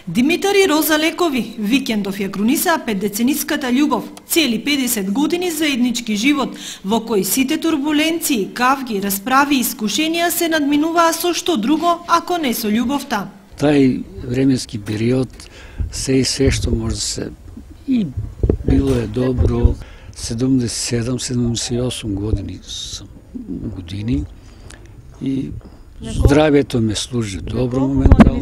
Димитар и Роза Лекови викендов ја крунисаа 5-децениската љубов, цели 50 години заеднички живот, во кој сите турбуленции, кавги, расправи и искушенија се надминуваа со што друго, ако не со љубовта. Тај временски период, се и се што може да се и било е добро. 77-78 години сум години и здравјето ме служи добро моментално.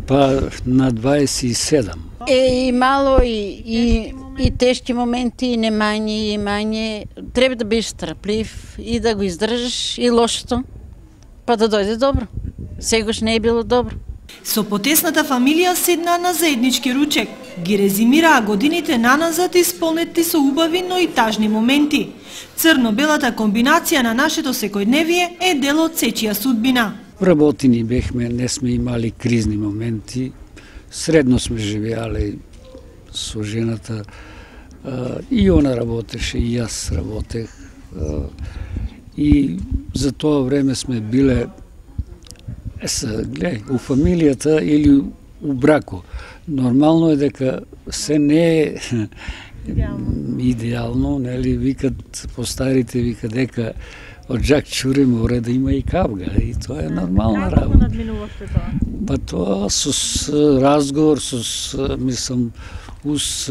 Па на 27. Имало и тешки моменти, и не мање, и мање. Треба да бидеш трплив и да го издржиш и лошото, па да дојде добро. Сегош не е било добро. Со потесната фамилија седнаа на заеднички ручек. Ги резимираа годините наназад исполнети со убави, но и тажни моменти. Црно-белата комбинација на нашето секојдневие е дел од сечија судбина. Вработени бехме, не сме имали кризни моменти. Средно сме живеале со жената. И она работеше, и јас работех. И за тоа време сме биле у фамилијата или у брако. Нормално е дека се не е идеално, нели, викат постарите, викат дека од Жак Чуре мора да има и кавга, и тоа е нормална работа. Како надминувавте тоа? Па тоа со разговор, мислам, ус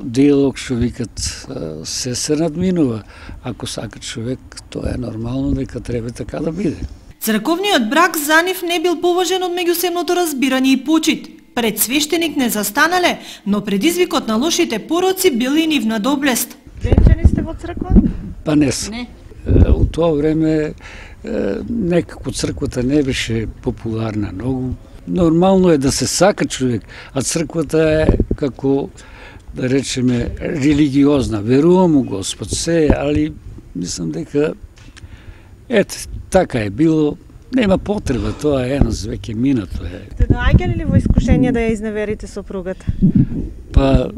диалог што викат се надминува. Ако сака човек, тоа е нормално дека треба така да биде. Црковниот брак за нив не бил поважен од меѓусебното разбирање и почит. Пред свештеник не застанале, но предизвикот на лошите пороци бил и нивна доблест. Венчани сте во црква? Па не сум. У тоа време некако црквата не беше популарна многу. Нормално е да се сака човек, а црквата е како, да речеме, религиозна. Верувам у Господ се, али мислам дека така е било, нема потреба, тоа е еднаш веќе минато е. Сте доаѓали ли во искушение да ја изневерите сопругата? Па,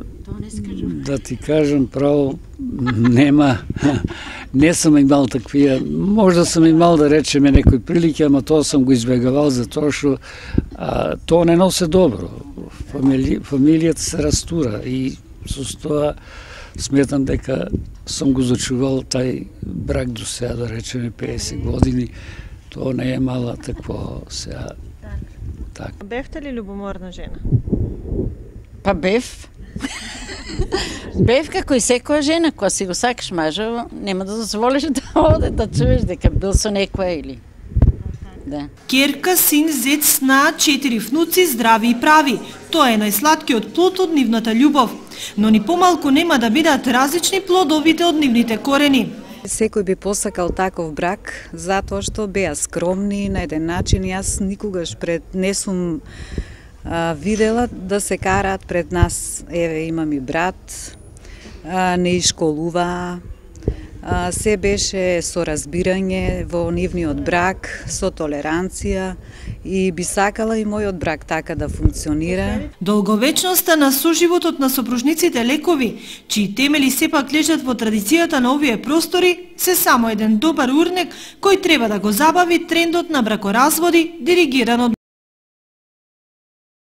да ти кажам право, нема, не сум имал таквија, можда сум имал да речеме некои прилики, ама тоа сум го избегавал за тоа што тоа не носи добро. Фамилијата се растура и со тоа сметам дека сум го зачувал тај брак до сега, да речеме 50 години, тоа не е мала такво сега. Так. Бевте ли љубоморна жена? Па бев. Бев како и секоја жена, кога си го сакаш мажа, нема да дозволиш да оде да чуеш дека бил со некоја или. Да. Керка, син, зет, сна, 4 внуци, здрави и прави. Тоа е најсладкиот плод од нивната љубов. Но ни помалку нема да бидат различни плодовите од нивните корени. Секој би посакал таков брак, затоа што беа скромни на еден начин. Јас никогаш не сум видела да се караат пред нас. Еве, имам и брат, не ишколуваа. Се беше со разбирање во нивниот брак, со толеранција, и би сакала и мојот брак така да функционира. Долговечноста на соживотот на сопружниците Лекови, чии темели сепак лежат во традицијата на овие простори, се само еден добар урнек кој треба да го забави трендот на бракоразводи диригиран од